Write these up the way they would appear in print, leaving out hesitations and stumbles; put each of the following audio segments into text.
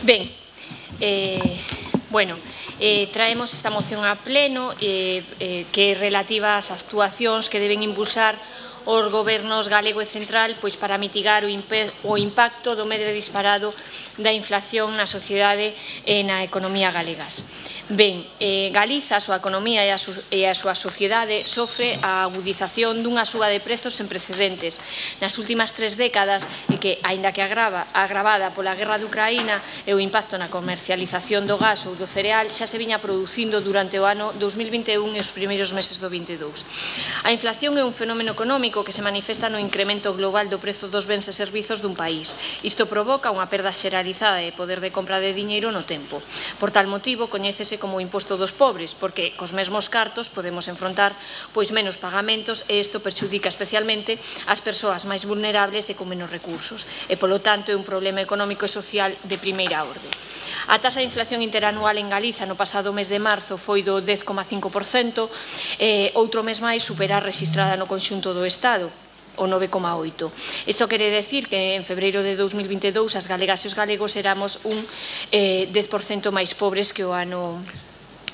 Ben, traemos esta moción a pleno que é relativa ás actuacións que deben impulsar os gobernos galego e central para mitigar o impacto do medre disparado da inflación na sociedade e na economía galegas. Ben, Galiza, a súa economía e a súa sociedade sofre a agudización dunha suba de prezos sen precedentes nas últimas 3 décadas e que, aínda que agravada pola guerra de Ucraína e o impacto na comercialización do gas ou do cereal, xa se viña producindo durante o ano 2021 e os primeiros meses do 2022. A inflación é un fenómeno económico que se manifesta no incremento global do prezo dos bens e servizos dun país. Isto provoca unha perda xeralizada de poder de compra de diñeiro no tempo. Por tal motivo, coñécese como o imposto dos pobres, porque cos mesmos cartos podemos enfrontar menos pagamentos e isto perxudica especialmente as persoas máis vulnerables e con menos recursos e, polo tanto, é un problema económico e social de primeira orde. A taxa de inflación interanual en Galiza no pasado mes de marzo foi do 10,5%, outro mes máis supera a rexistrada no conxunto do Estado, o 9,8%. Isto quere decir que en febreiro de 2022 as galegas e os galegos éramos un 10% máis pobres que o ano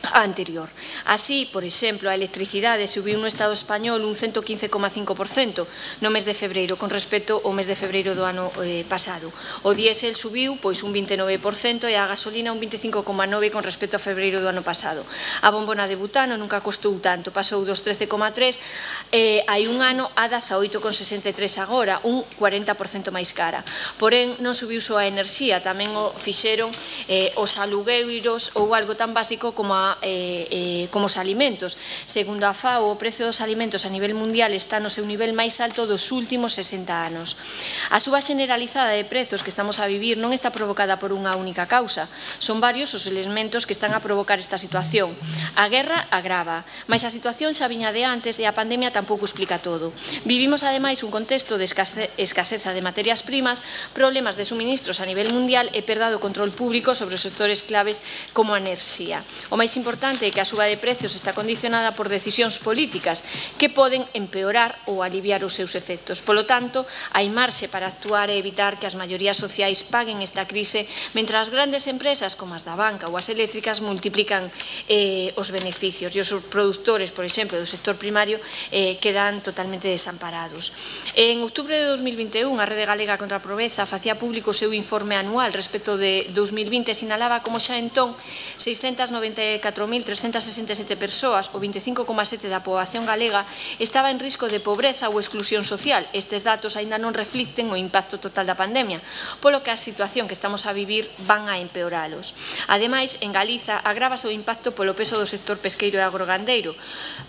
anterior. Así, por exemplo, a electricidade subiu no Estado español un 115,5% no mes de febreiro con respecto ao mes de febreiro do ano pasado. O diésel subiu un 29% e a gasolina un 25,9% con respecto a febreiro do ano pasado. A bombona de butano nunca costou tanto, pasou dos 13,3 hai un ano a 18,63 agora, un 40% máis cara. Porén, non subiu só a enerxía, tamén o fixeron os alugueiros ou algo tan básico como os alimentos. Segundo a FAO, o precio dos alimentos a nivel mundial está no seu nivel máis alto dos últimos 60 anos. A suba generalizada de prezos que estamos a vivir non está provocada por unha única causa. Son varios os elementos que están a provocar esta situación. A guerra agrava, mas a situación xa viña de antes e a pandemia tampouco explica todo. Vivimos, ademais, un contexto de escaseza de materias primas, problemas de suministros a nivel mundial e perda do control público sobre os sectores claves como a enerxía. O máis importante é que a suba de precios está condicionada por decisións políticas que poden empeorar ou aliviar os seus efectos. Polo tanto, hai marxe para actuar e evitar que as maiorías sociais paguen esta crise, mentre as grandes empresas como as da banca ou as eléctricas multiplican os beneficios e os produtores, por exemplo, do sector primario quedan totalmente desamparados. En outubro de 2021, a Rede Galega contra a Pobreza facía público o seu informe anual respecto de 2020 e sinalaba como xa entón 694.367 persoas, o 25,7% da poboación galega, estaba en risco de pobreza ou exclusión social. Estes datos aínda non reflicten o impacto total da pandemia, polo que a situación que estamos a vivir van a empeoralos. Ademais, en Galiza agrávase o impacto polo peso do sector pesqueiro e agrogandeiro,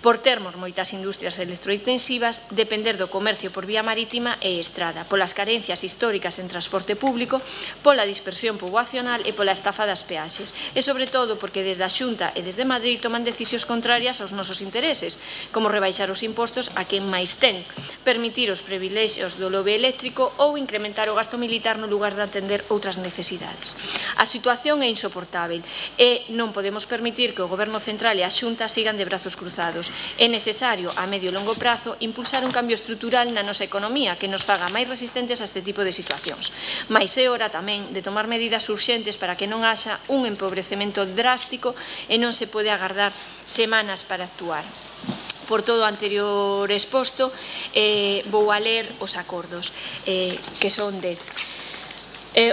por termos moitas industrias electrointensivas, depender do comercio por vía marítima e estrada, polas carencias históricas en transporte público, pola dispersión poboacional e pola estafa das peaxes, e sobre todo porque desde a Xunta e desde Madrid toman decisións contrarias aos nosos intereses, como rebaixar os impostos a quen máis ten, permitir os privilexios do lobby eléctrico ou incrementar o gasto militar no lugar de atender outras necesidades. A situación é insoportável e non podemos permitir que o Goberno central e a Xunta sigan de brazos cruzados. É necesario, a medio e longo prazo, impulsar un cambio estrutural na nosa economía que nos faga máis resistentes a este tipo de situacións. Mais é hora tamén de tomar medidas urxentes para que non haxa un empobrecemento drástico e non se pode agardar semanas para actuar. Por todo o anterior exposto, vou a ler os acordos, que son 10.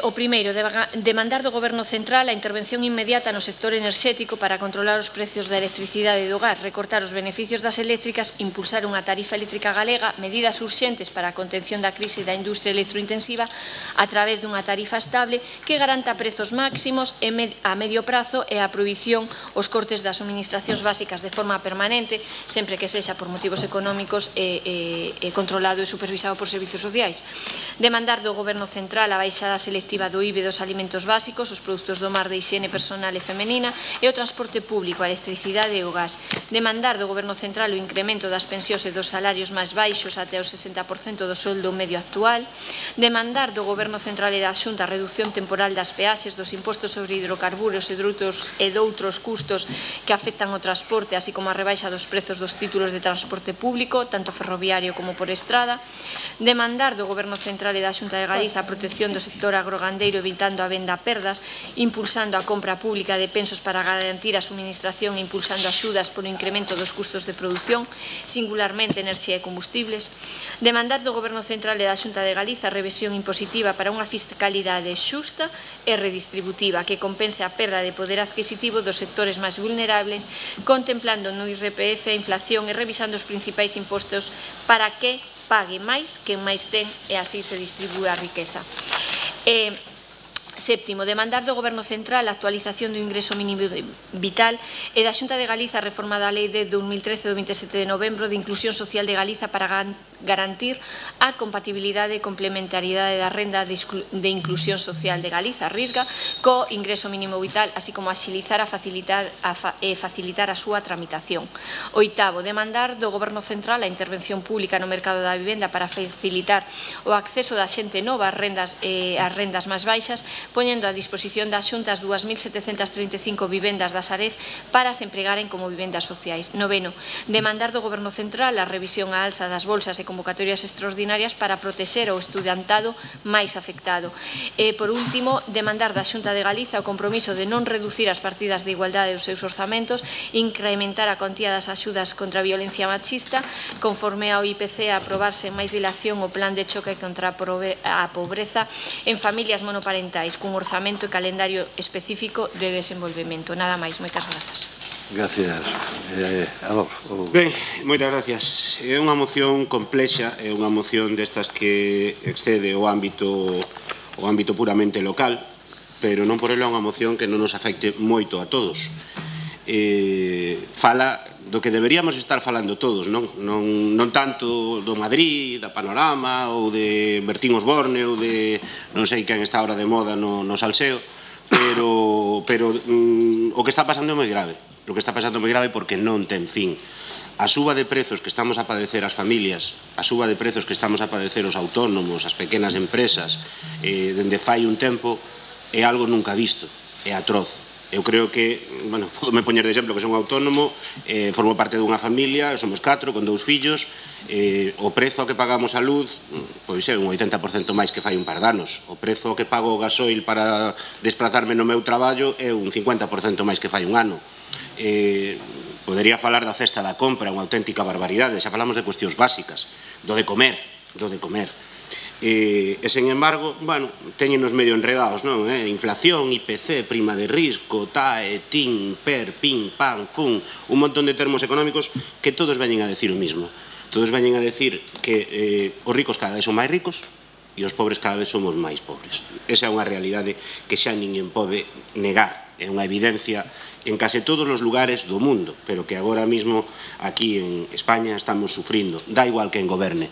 O primeiro, demandar do Goberno central a intervención inmediata no sector enerxético para controlar os precios da electricidade do hogar, recortar os beneficios das eléctricas, impulsar unha tarifa eléctrica galega, medidas urxentes para a contención da crise da industria electrointensiva a través dunha tarifa estable que garanta prezos máximos a medio prazo e a prohibición os cortes das suministracións básicas de forma permanente, sempre que sexa por motivos económicos e controlado e supervisado por servizos sociais. Demandar do Goberno central a baixada selectiva do IBE dos alimentos básicos, os produtos do mar de higiene personal e femenina e o transporte público, a electricidade e o gas. Demandar do Goberno central o incremento das pensións e dos salarios máis baixos até o 60% do soldo medio actual. Demandar do Goberno central e da Xunta a reducción temporal das peaxes, dos impostos sobre hidrocarburos e doutros custos que afectan o transporte, así como a rebaixa dos prezos dos títulos de transporte público, tanto ferroviario como por estrada. Demandar do Goberno central e da Xunta de Galiza a protección do sector agrogandeiro evitando a venda a perdas, impulsando a compra pública de pensos para garantir a suministración e impulsando axudas polo incremento dos custos de produción, singularmente enerxía e combustibles, demandar do Goberno Central e da Xunta de Galiza a revisión impositiva para unha fiscalidade xusta e redistributiva que compense a perda de poder adquisitivo dos sectores máis vulnerables, contemplando no IRPF a inflación e revisando os principais impostos para que pague máis quen máis ten e así se distribúe a riqueza. Séptimo, demandar do Goberno Central a actualización do ingreso mínimo vital e da Xunta de Galiza a reforma da Lei de 2013 do 27 de novembro de Inclusión Social de Galiza para garantir a compatibilidade e complementariedade da renda de Inclusión Social de Galiza, RISGA, co ingreso mínimo vital, así como axilizar e facilitar a súa tramitación. Oitavo, demandar do Goberno Central a intervención pública no mercado da vivenda para facilitar o acceso da xente nova ás rendas máis baixas, poñendo a disposición das xuntas 2.735 vivendas da Sareb para se empregaren como vivendas sociais. Noveno, demandar do Goberno Central a revisión á alza das bolsas e convocatorias extraordinarias para protexer o estudantado máis afectado. E, por último, demandar da Xunta de Galiza o compromiso de non reducir as partidas de igualdade dos seus orzamentos, incrementar a contía das axudas contra a violencia machista, conforme ao IPC a aprobarse en máis dilación o plan de choque contra a pobreza en familias monoparentais, cun orzamento e calendario específico de desenvolvemento. Nada máis, moitas grazas. Gracias. Ben, moitas gracias. É unha moción complexa, é unha moción destas que excede o ámbito puramente local, pero non por ela é unha moción que non nos afecte moito a todos. Fala do que deberíamos estar falando todos, non tanto do Madrid, da Panorama, ou de Bertín Osborne, ou de non sei quen está ahora de moda no salseo, pero o que está pasando é moi grave. O que está pasando é moi grave porque non ten fin. A suba de prezos que estamos a padecer as familias, a suba de prezos que estamos a padecer os autónomos, as pequenas empresas, dende fai un tempo, é algo nunca visto, é atroz. Eu creo que, bueno, podome poñer de exemplo que son autónomo, formo parte dunha familia, somos 4 con 2 fillos, o prezo que pagamos a luz, pois é un 80% máis que fai un par de anos. O prezo que pago o gasoil para desplazarme no meu traballo é un 50% máis que fai un ano. Podería falar da cesta da compra, unha auténtica barbaridade, xa falamos de cuestións básicas, do de comer. E, sen embargo, bueno, teñenos medio enredados, non? Inflación, IPC, prima de risco, TAE, TIN, PER, PIN, PAN, PUN, un montón de termos económicos que todos veñen a decir o mismo. Todos veñen a decir que os ricos cada vez son máis ricos e os pobres cada vez somos máis pobres. Esa é unha realidade que xa ninguén pode negar. É unha evidencia en case todos os lugares do mundo, pero que agora mesmo aquí en España estamos sufrindo. Da igual que en goberne.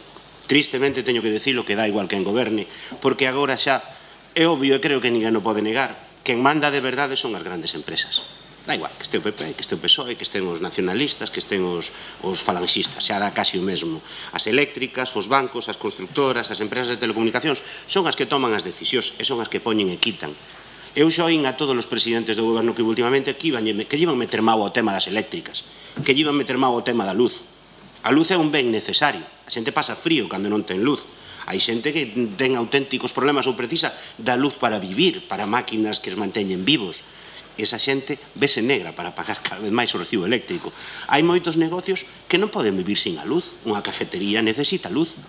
Tristemente teño que dicilo que dá igual que en goberne, porque agora xa é obvio e creo que ninguén o pode negar, quen manda de verdade son as grandes empresas. Da igual que este o PP, que este o PSOE, que estén os nacionalistas, que estén os falanxistas, xa dá casi o mesmo. As eléctricas, os bancos, as constructoras, as empresas de telecomunicacións son as que toman as decisións e son as que poñen e quitan. Eu xa oín a todos os presidentes do goberno que últimamente que iban meter mau ao tema das eléctricas, que iban meter mau ao tema da luz. A luz é un ben necesario. A xente pasa frío cando non ten luz. Hai xente que ten auténticos problemas ou precisa da luz para vivir, para máquinas que os manteñen vivos. Esa xente vese negra para pagar cada vez máis o recibo eléctrico. Hai moitos negocios que non poden vivir sin a luz. Unha cafetería necesita luz.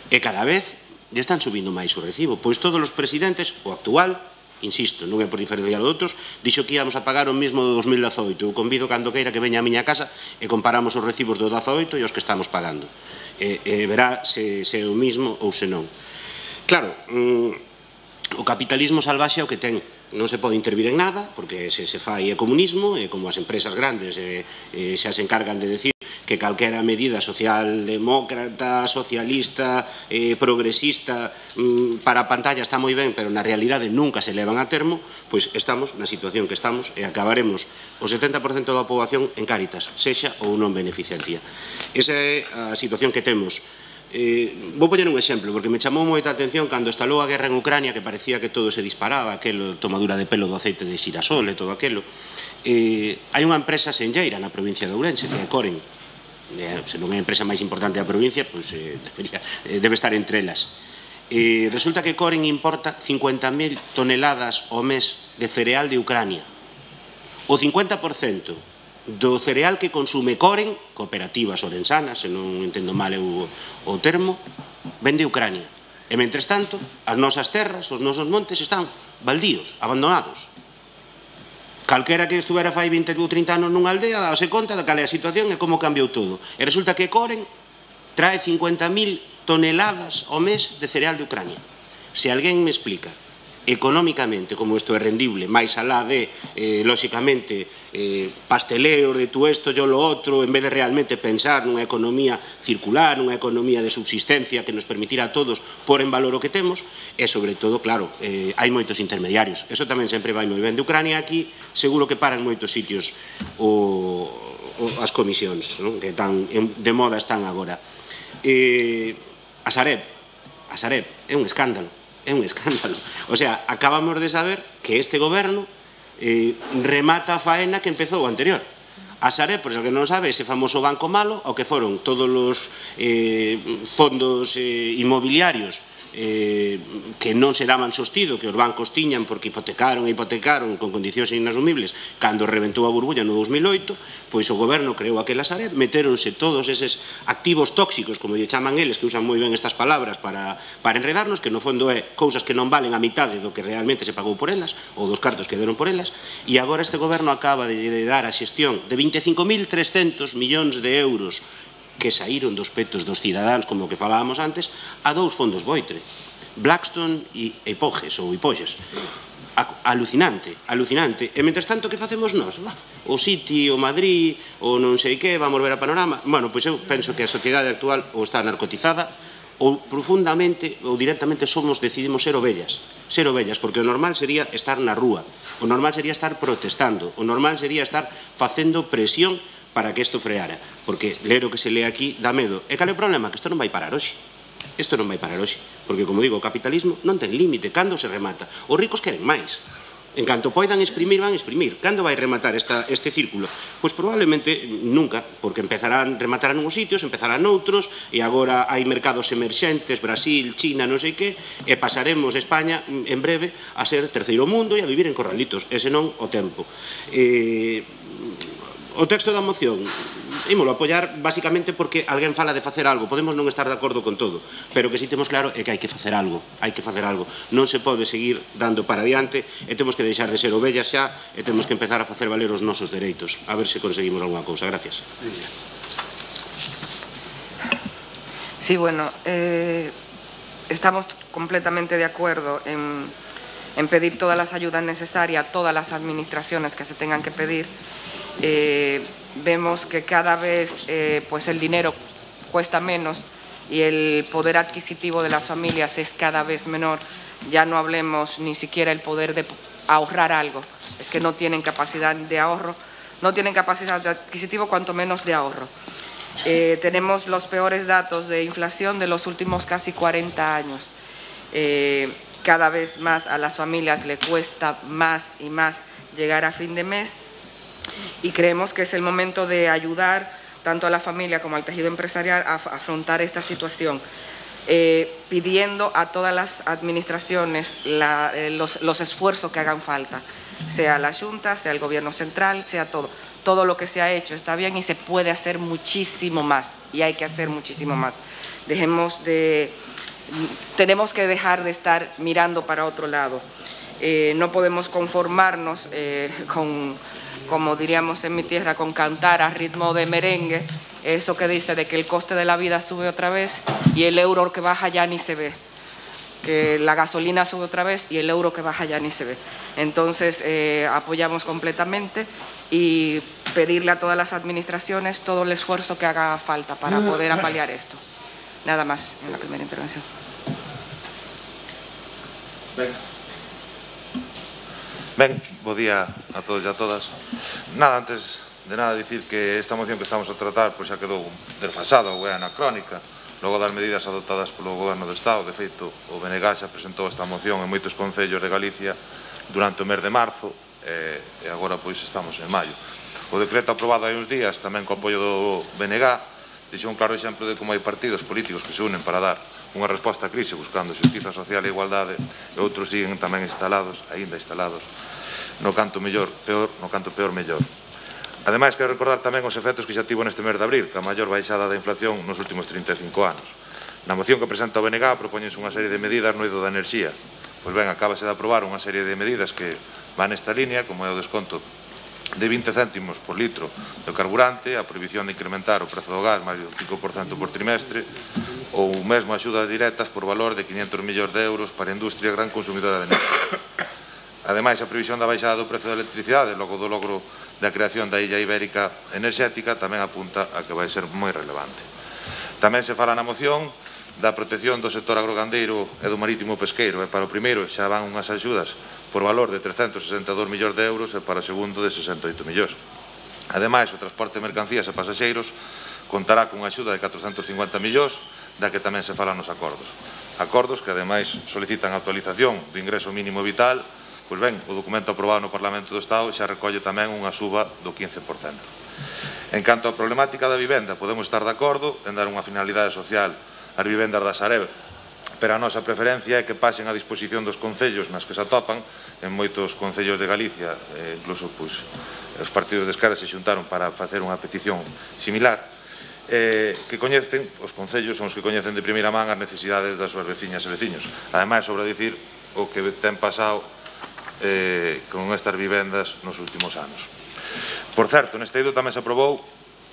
E cada vez lle están subindo máis o recibo. Pois todos os presidentes, o actual, insisto, non é por diferenciar os outros, dixo que íamos a pagar o mesmo do 2018. Eu convido cando queira que veña a miña casa e comparamos os recibos do 2018 e os que estamos pagando. Verá se é o mesmo ou se non. Claro, o capitalismo salvaxe é o que ten. Non se pode intervir en nada, porque se fai é comunismo, e como as empresas grandes xa se encargan de decir que calquera medida socialdemócrata, socialista, progresista para a pantalla está moi ben, pero na realidade nunca se levan a termo, pois estamos na situación que estamos e acabaremos o 70% da poboación en Cáritas, sexa ou non beneficiaría. Esa é a situación que temos. Vou poñer un exemplo, porque me chamou moita atención cando estalou a guerra en Ucrania, que parecía que todo se disparaba, aquela tomadura de pelo do aceite de xirasol e todo aquilo. Hai unha empresa senlleira na provincia de Ourense, que é Coren. Se non é a empresa máis importante da provincia, pois debe estar entre elas. Resulta que Coren importa 50.000 toneladas ao mes de cereal de Ucrania. O 50% do cereal que consume Coren, cooperativas orensanas, se non entendo mal o termo, vende Ucrania. E, mentres tanto, as nosas terras, os nosos montes están baldíos, abandonados. Calquera que estuvera fai 20 ou 30 anos nunha aldea dábase conta de cal é a situación e como cambiou todo. E resulta que Coren trae 50.000 toneladas ao mes de cereal de Ucrania. Se alguén me explica económicamente como isto é rendible, máis alá de, lóxicamente, pasteleos de tú esto, yo lo outro, en vez de realmente pensar nunha economía circular, nunha economía de subsistencia que nos permitirá a todos pôr en valor o que temos, e, sobre todo, claro, hai moitos intermediarios. Eso tamén sempre vai moi ben. De Ucrania aquí, seguro que paran moitos sitios as comisións, que tan de moda están agora. A Sareb é un escándalo, O sea, acabamos de saber que este goberno remata a faena que empezou o anterior. A Sareb, por eso que non sabe, ese famoso banco malo, ao que foron todos os fondos inmobiliarios que non se daban sostido, que os bancos tiñan porque hipotecaron con condicións inasumibles cando reventou a burbulla no 2008, pois o goberno creou aquela Sareb, metéronse todos eses activos tóxicos, como lle chaman eles, que usan moi ben estas palabras para enredarnos, que no fondo é cousas que non valen a mitade do que realmente se pagou por elas, ou dos cartos que deron por elas, e agora este goberno acaba de dar a xestión de 25.300 millóns de euros que saíron dos petos dos cidadáns, como que falábamos antes, a dous fondos Boitre, Blackstone e Hipoges, ou Hipoges. Alucinante. E, mentres tanto, que facemos nós? O City, o Madrid, o non sei que, vamos ver a Panorama. Bueno, pois eu penso que a sociedade actual ou está narcotizada, ou profundamente, ou directamente decidimos ser ovellas, porque o normal sería estar na rúa, o normal sería estar protestando, o normal sería estar facendo presión para que isto freara, porque ler o que se lee aquí dá medo. E cal é o problema? Que isto non vai parar hoxe. Porque, como digo, o capitalismo non ten límite. Cando se remata? Os ricos queren máis. En canto poidan exprimir, van exprimir. Cando vai rematar este círculo? Pois probablemente nunca, porque rematarán unhos sitios, empezarán noutros, e agora hai mercados emerxentes, Brasil, China, non sei que, e pasaremos España en breve a ser terceiro mundo e a vivir en corralitos, e senón o tempo. O texto da moción, ímolo apoiar basicamente porque alguén fala de facer algo. Podemos non estar de acordo con todo, pero que si temos claro é que hai que facer algo. Non se pode seguir dando para adiante e temos que deixar de ser ovellas xa e temos que empezar a facer valer os nosos dereitos. A ver se conseguimos alguna cousa. Gracias. Sí, bueno, estamos completamente de acuerdo en pedir todas las ayudas necesarias a todas las administraciones que se tengan que pedir. Vemos que cada vez pues el dinero cuesta menos y el poder adquisitivo de las familias es cada vez menor. Ya no hablemos ni siquiera el poder de ahorrar algo, es que no tienen capacidad de ahorro, no tienen capacidad de adquisitivo, cuanto menos de ahorro. Tenemos los peores datos de inflación de los últimos casi 40 años. Cada vez más a las familias le cuesta más y más llegar a fin de mes. Y creemos que es el momento de ayudar tanto a la familia como al tejido empresarial a afrontar esta situación, pidiendo a todas las administraciones los esfuerzos que hagan falta, sea la Junta, sea el Gobierno central, sea todo lo que se ha hecho está bien y se puede hacer muchísimo más, y hay que hacer muchísimo más. Tenemos que dejar de estar mirando para otro lado. No podemos conformarnos como diríamos en mi tierra, con cantar a ritmo de merengue, eso que dice de que el coste de la vida sube otra vez y el euro que baja ya ni se ve, que la gasolina sube otra vez y el euro que baja ya ni se ve. Entonces apoyamos completamente y pedirle a todas las administraciones todo el esfuerzo que haga falta para poder paliar esto. Nada más en la primera intervención. Ben, bo día a todos e a todas. Nada, antes de nada dicir que esta moción que estamos a tratar pois xa quedou desfasada ou é anacrónica logo das medidas adoptadas polo Goberno do Estado. De feito, o BNG xa presentou esta moción en moitos concellos de Galicia durante o mes de marzo e agora pois estamos en maio. O decreto aprobado hai uns días, tamén co apoio do BNG, deixou un claro exemplo de como hai partidos políticos que se unen para dar unha resposta á crise buscando xustiza social e igualdade, e outros siguen tamén aínda instalados, no canto peor mellor. Ademais, quero recordar tamén os efectos que xa tivo neste mes de abril, que a maior baixada da inflación nos últimos 35 anos. Na moción que presenta o BNG propóñense unha serie de medidas no eido da enerxía. Pois ben, acábase de aprobar unha serie de medidas que van nesta línea, como é o desconto de 20 céntimos por litro do carburante, a prohibición de incrementar o prezo do gas máis do 5% por trimestre, ou mesmo axudas directas por valor de 500 millóns de euros para a industria gran consumidora de enerxía. Ademais, a previsión da baixada do prezo da electricidade logo do logro da creación da Illa Ibérica Enerxética tamén apunta a que vai ser moi relevante. Tamén se fala na moción da protección do sector agrogandeiro e do marítimo pesqueiro, e para o primeiro xa van unhas axudas por valor de 362 millóns de euros e para o segundo de 68 millóns. Ademais, o transporte de mercancías e pasaxeiros contará cunha axuda de 450 millóns, da que tamén se falan nos acordos. Acordos que ademais solicitan a actualización do ingreso mínimo vital. Pois ben, o documento aprobado no Parlamento do Estado xa recolle tamén unha suba do 15%. En canto á problemática da vivenda, podemos estar de acordo en dar unha finalidade social ás vivendas da Sareb, pero a nosa preferencia é que pasen a disposición dos concellos nas que se atopan. En moitos concellos de Galicia, incluso os partidos de esquerda se xuntaron para facer unha petición similar, que coñecen, os concellos son os que coñecen de primeira man as necesidades das súas veciñas e veciños. Ademais, sobre dicir o que ten pasado con estas vivendas nos últimos anos. Por certo, neste eido tamén se aprobou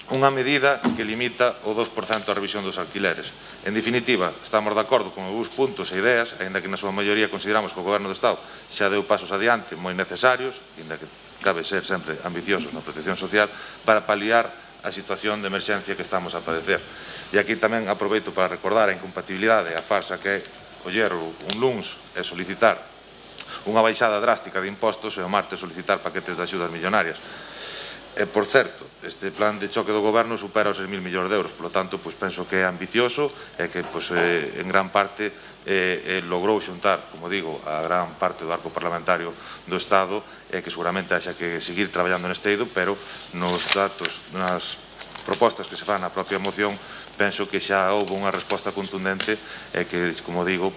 unha medida que limita o 2% a revisión dos alquileres. En definitiva, estamos de acordo con algúns puntos e ideas, aínda que na súa maioría consideramos que o Goberno do Estado xa deu pasos adiante moi necesarios, aínda que cabe ser sempre ambiciosos na protección social, para paliar a situación de emerxencia que estamos a padecer. E aquí tamén aproveito para recordar a incompatibilidade, a farsa que é coller un luns e solicitar unha baixada drástica de impostos e o martes solicitar paquetes de axudas millonarias. E, por certo, este plan de choque do Goberno supera os 6.000 millóns de euros, por lo tanto, penso que é ambicioso e que, en gran parte, logrou xuntar, como digo, a gran parte do arco parlamentario do Estado, e que seguramente haxa que seguir traballando neste eido, pero nos datos, nas propostas que se fan na propia moción, penso que xa houve unha resposta contundente e que, como digo,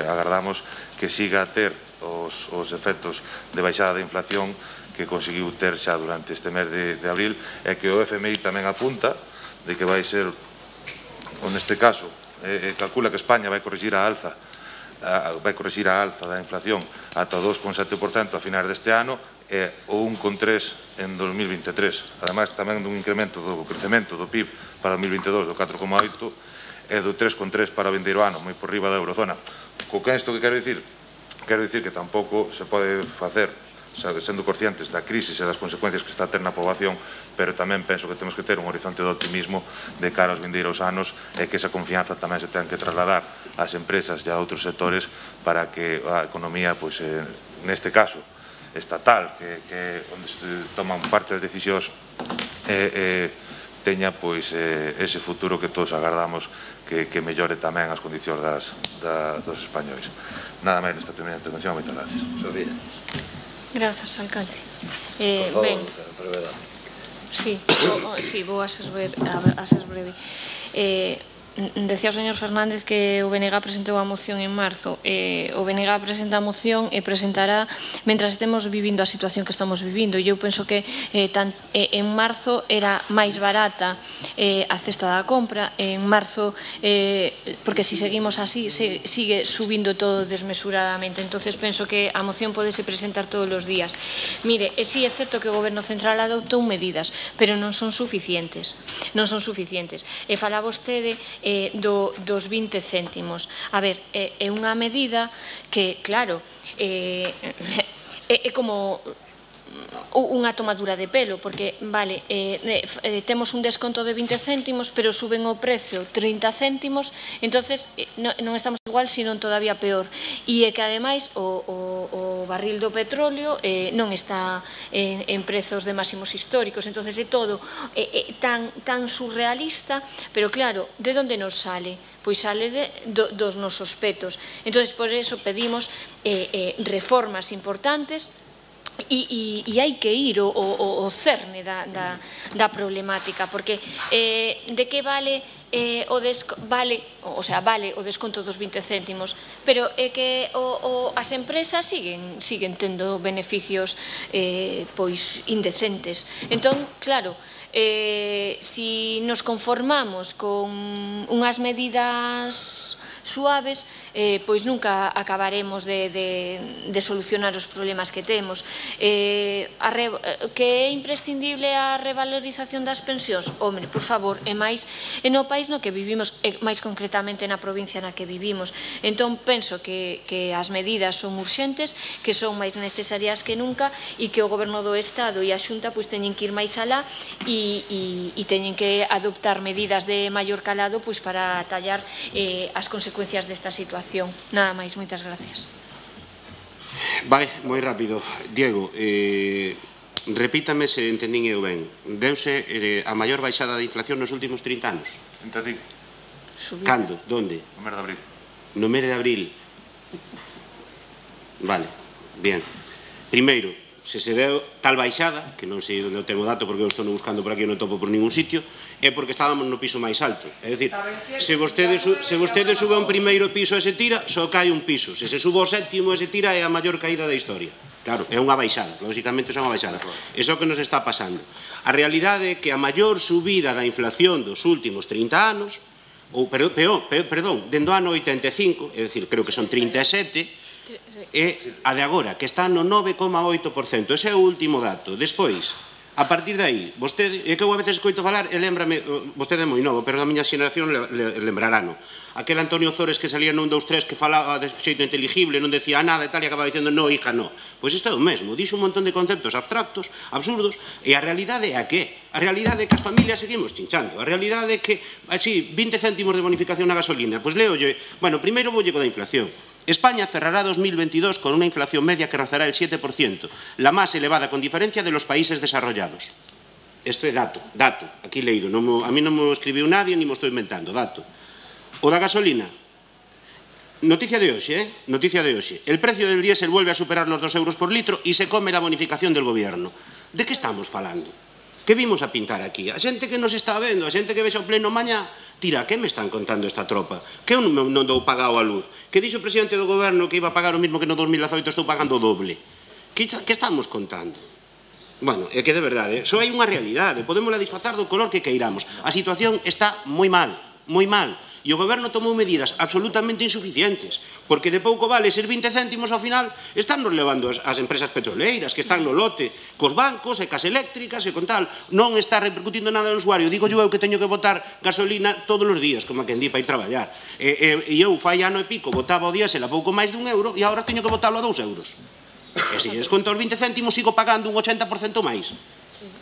agardamos que siga a ter os efectos de baixada de inflación que conseguiu ter xa durante este mes de abril, e que o FMI tamén apunta de que vai ser, neste caso, calcula que España vai corrixir a alza da inflación ata o 2,7% a finais deste ano e o 1,3% en 2023. Ademais, tamén dun incremento do crecemento do PIB para 2022 do 4,8% e do 3,3% para o vindeiro ano, moi por riba da eurozona. Co que isto que quero dicir? Quero dicir que tampouco se pode facer sendo conscientes da crise e das consecuencias que está a ter na poboación, pero tamén penso que temos que ter un horizonte de optimismo de cara aos vindeiros anos e que esa confianza tamén se ten que trasladar ás empresas e a outros sectores para que a economía, neste caso estatal, que onde se toman parte das decisións, teña ese futuro que todos agardamos que mellore tamén as condicións dos españois. Nada máis nesta primeira intervención, moitas gracias. Sofía. Grazas, alcalde. Por favor, Ben, brevedade. sí, vou a ser breve. Decía o señor Fernández que o BNG presentou a moción en marzo. O BNG presenta a moción e presentará mentras estemos vivindo a situación que estamos vivindo. E eu penso que en marzo era máis barata a cesta da compra. En marzo, porque se seguimos así, sigue subindo todo desmesuradamente. Entonces penso que a moción podese presentar todos os días. Mire, sí é certo que o Goberno Central adoptou medidas, pero non son suficientes. Non son suficientes. E fala vostede dos 20 céntimos. A ver, é unha medida que, claro, é como unha tomadura de pelo, porque, vale, temos un desconto de 20 céntimos, pero suben o precio 30 céntimos, entonces non estamos igual, sino todavía peor. E é que, ademais, o barril do petróleo non está en prezos de máximos históricos, entonces é todo tan surrealista, pero, claro, de onde nos sale? Pois sale dos nosos petos. Entonces, por eso pedimos reformas importantes E hai que ir ao cerne da problemática, porque de que vale o desconto dos 20 céntimos, pero é que as empresas siguen tendo beneficios indecentes. Entón, claro, si nos conformamos con unhas medidas suaves, pois nunca acabaremos de solucionar os problemas que temos. Que é imprescindible a revalorización das pensións? Home, por favor, e máis no país no que vivimos, e máis concretamente na provincia na que vivimos. Entón, penso que as medidas son urxentes, que son máis necesarias que nunca, e que o Goberno do Estado e a Xunta teñen que ir máis alá e teñen que adoptar medidas de maior calado para atallar as consecuencias desta situación. Nada máis, moitas gracias. Vale, moi rápido. Diego, repítame se entendín eu ben. Deuse a maior baixada de inflación nos últimos 30 anos? 35. Cando? Donde? No mes de abril. No mes de abril. Vale, bien. Primeiro, se deu tal baixada, que non sei onde ten o dato porque eu estou buscando por aquí e non topo por ningún sitio, é porque estábamos no piso máis alto. É dicir, se vostede sube a un primeiro piso e se tira, só cae un piso. Se sube ao sétimo e se tira, é a maior caída da historia. Claro, é unha baixada, lógicamente é unha baixada. É o que nos está pasando. A realidade é que a maior subida da inflación dos últimos 30 anos, ou, perdón, dende o ano 85, é dicir, creo que son 37, é a de agora, que está no 9,8%. Ese é o último dato. Despois, a partir de aí, vostede, é que eu a veces escoito falar, e lembrame, vostede é moi novo, pero da miña xeración lembrarano. Aquel Antonio Zores que salía nun 2-3 que falaba de xeito inteligible, non decía nada e tal, e acababa dicendo no, hija, no. Pois isto é o mesmo, dixo un montón de conceptos abstractos, absurdos, e a realidade é a que? A realidade é que as familias seguimos chinchando. A realidade é que, así, 20 céntimos de bonificación na gasolina. Pois leolle, bueno, primeiro voulle co da inflación. España cerrará 2022 con una inflación media que rozará el 7%, la más elevada con diferencia de los países desarrollados. Este é dato, aquí leído, a mí non me escribiu nadie ni me estou inventando, dato. O da gasolina, noticia de hoxe, el precio del diésel vuelve a superar los 2 euros por litro y se come la bonificación del gobierno. De que estamos falando? Que vimos a pintar aquí? A xente que nos está vendo, a xente que vexe o pleno mañá, tira, que me están contando esta tropa? Que eu non dou pagado a luz? Que dixo o presidente do goberno que iba a pagar o mismo que no 2018, estou pagando o doble? Que estamos contando? Bueno, é que de verdade, só hai unha realidade, podémosla disfrazar do color que queiramos. A situación está moi mal, moi mal. E o goberno tomou medidas absolutamente insuficientes, porque de pouco vale ser 20 céntimos ao final, están nos levando as empresas petroleiras que están no lote, cos bancos e cas eléctricas e con tal, non está repercutindo nada no usuario. Digo eu que teño que botar gasolina todos os días, como a quen di, para ir traballar. E eu fai ano e pico botaba o diésel a pouco máis dun euro e agora teño que botarlo a 2 euros. E se lle desconto os 20 céntimos sigo pagando un 80% máis.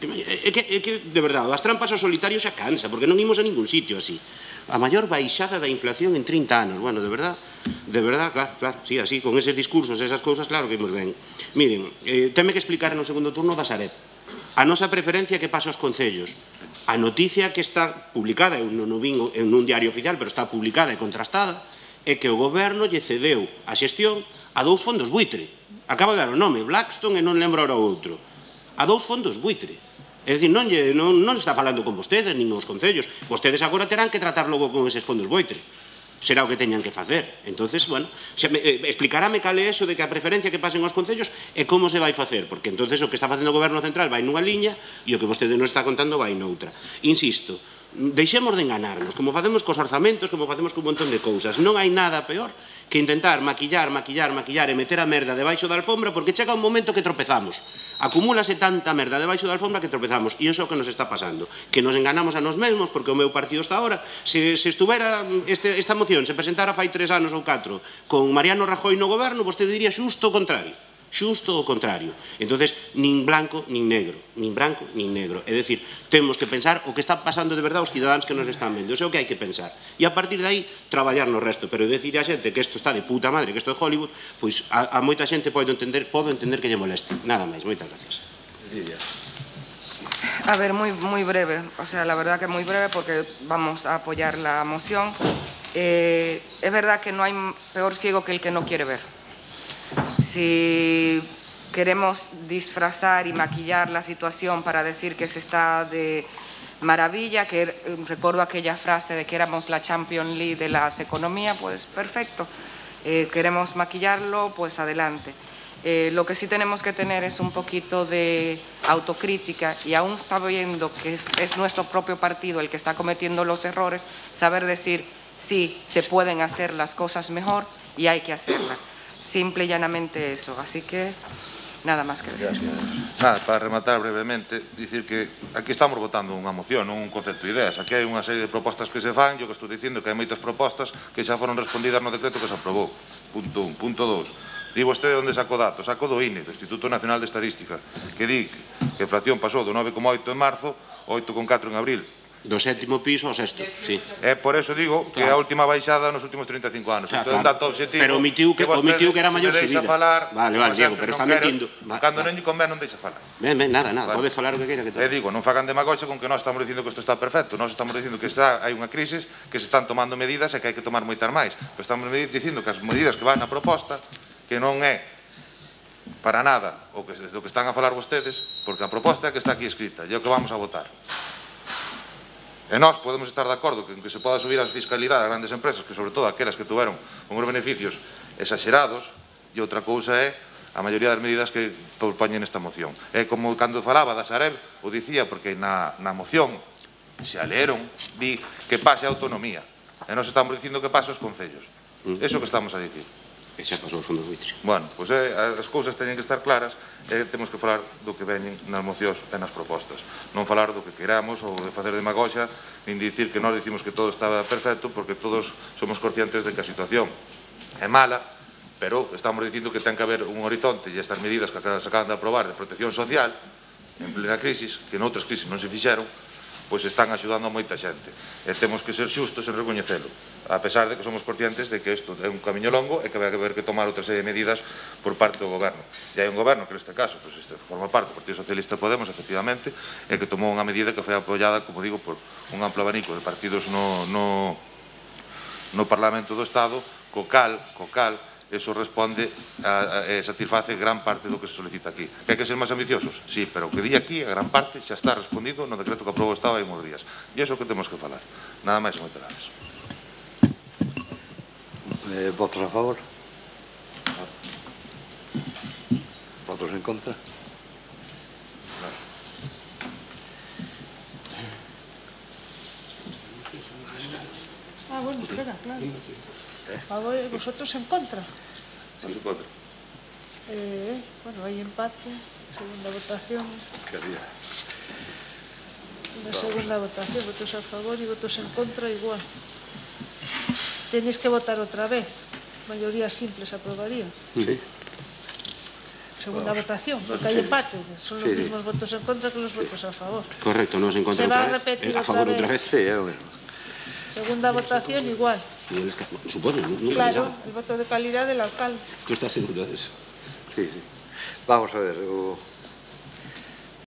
É que, de verdade, as trampas ao solitario xa cansa, porque non imos a ningún sitio así. A maior baixada da inflación en 30 anos. Bueno, de verdad, claro, sí, así, con eses discursos, esas cousas, claro que imos ben. Miren, teme que explicar no segundo turno da Sareb. A nosa preferencia que pasa aos concellos. A noticia que está publicada, eu non vin en un diario oficial, pero está publicada e contrastada, é que o goberno lle cedeu a xestión a 2 fondos buitre. Acabo de dar o nome, Blackstone e non lembro ahora o outro. A 2 fondos buitre. É dicir, non está falando con vostedes, nin os concellos. Vostedes agora terán que tratar logo con eses fondos buitre. Será o que teñan que facer. Entonces, bueno, explicarame cal é eso de que a preferencia que pasen aos concellos e como se vai facer, porque entonces o que está facendo o goberno central vai nunha liña e o que vostede non está contando vai noutra. Insisto, deixemos de enganarnos, como facemos cos orzamentos, como facemos con un montón de cousas. Non hai nada peor que intentar maquillar e meter a merda debaixo da alfombra, porque chega un momento que tropezamos. Acumúlase tanta merda debaixo da alfombra que tropezamos, e iso é o que nos está pasando, que nos enganamos a nos mesmos, porque o meu partido está ahora, se estuvera esta moción, se presentara fai 3 anos ou 4, con Mariano Rajoy no goberno, vostede diría xusto o contrario. Xusto o contrario. Entonces, nin blanco nin negro, nin branco nin negro. É dicir, temos que pensar o que está pasando de verdade aos cidadáns que nos están vendo. Eso é o que hai que pensar. E a partir de aí, traballar no resto. Pero decir a xente que isto está de puta madre, que isto é Hollywood, pois a moita xente podo entender que lle moleste. Nada máis. Moitas gracias. A ver, muy breve. O sea, la verdad que muy breve porque vamos a apoyar la moción. Es verdad que no hay peor ciego que el que no quiere ver. Si queremos disfrazar y maquillar la situación para decir que se está de maravilla, que recuerdo aquella frase de que éramos la Champions League de las economías, pues perfecto. Queremos maquillarlo, pues adelante. Lo que sí tenemos que tener es un poquito de autocrítica y aún sabiendo que es nuestro propio partido el que está cometiendo los errores, saber decir sí, se pueden hacer las cosas mejor y hay que hacerlas. Simple y llanamente eso. Así que nada más que decir. Nada, para rematar brevemente, dicir que aquí estamos votando unha moción, non un concepto de ideas. Aquí hai unha serie de propostas que se fan, yo que estou dicindo que hai moitas propostas que xa foron respondidas no decreto que se aprobou. Punto 1. Punto 2. Di vostede onde sacou datos? Saco do INE, do Instituto Nacional de Estadística, que di que a inflación pasou do 9,8 en marzo ao 8,4 en abril. Do 7º piso ao 6º, sí. Por eso digo que a última baixada nos últimos 35 anos. Claro, Entón, un dato objetivo... Pero omitiu que era maior subida. Vale, Diego, pero está mentindo. Cando non lle convén non deixa falar. Ben, nada, pode falar o que queira que todo. Digo, non fagan demagogia con que nós estamos dicindo que isto está perfecto. Nós estamos dicindo que hai unha crisis, que se están tomando medidas e que hai que tomar moitas máis. Pero estamos dicindo que as medidas que van na proposta, que non é para nada o que están a falar vostedes, porque a proposta é que está aquí escrita, e é o que vamos a votar. E nós podemos estar de acordo que se poda subir a fiscalidade a grandes empresas, que sobre todo aquelas que tuveron unhos beneficios exagerados, e outra cousa é a maioría das medidas que propoñen esta moción. É como cando falaba da Sareb, o dicía, porque na moción se a leeron, di que pase a autonomía, e nós estamos dicindo que pase aos concellos. Eso que estamos a dicir. E xa pasou os fondos buitre. Bueno, pois as cousas teñen que estar claras e temos que falar do que veñen nas mocións e nas propostas. Non falar do que queramos ou de facer demagoxa, nin dicir que nós dicimos que todo estaba perfecto, porque todos somos conscientes de que a situación é mala, pero estamos dicindo que ten que haber un horizonte e estas medidas que se acaban de aprobar de protección social en plena crisis, que noutras crisis non se fixeron, pois están axudando a moita xente. E temos que ser xustos en recoñecelo, a pesar de que somos conscientes de que isto é un camiño longo e que vai haber que tomar outra serie de medidas por parte do goberno. E hai un goberno que neste caso forma parte do Partido Socialista Podemos, efectivamente, e que tomou unha medida que foi apoiada, como digo, por un amplo abanico de partidos no Parlamento do Estado, co cal eso responde e satisface gran parte do que se solicita aquí. Que hai que ser máis ambiciosos? Sí, pero o que di aquí, a gran parte, xa está respondido no decreto que aprobou o Estado hai uns días. E iso que temos que falar. Nada máis e moitas gracias. ¿Votos a favor? ¿Votos en contra? Bueno, espera, claro. ¿Vosotros en contra? Sí, en contra. Bueno, hay empate, segunda votación. ¿Qué había? Una segunda votación, votos a favor y votos en contra igual. Tenéis que votar otra vez. Mayoría simple se aprobaría. Sí. Segunda votación, porque hay empate. Son los mismos votos en contra que los votos a favor. Correcto, nos en contra ¿Se va outra a vez. repetir A favor outra vez. Sí, é o mesmo. Segunda votación igual. Supoño, non Claro, el voto de calidad del alcalde. Tú estás seguro de eso. Sí. Vamos a ver,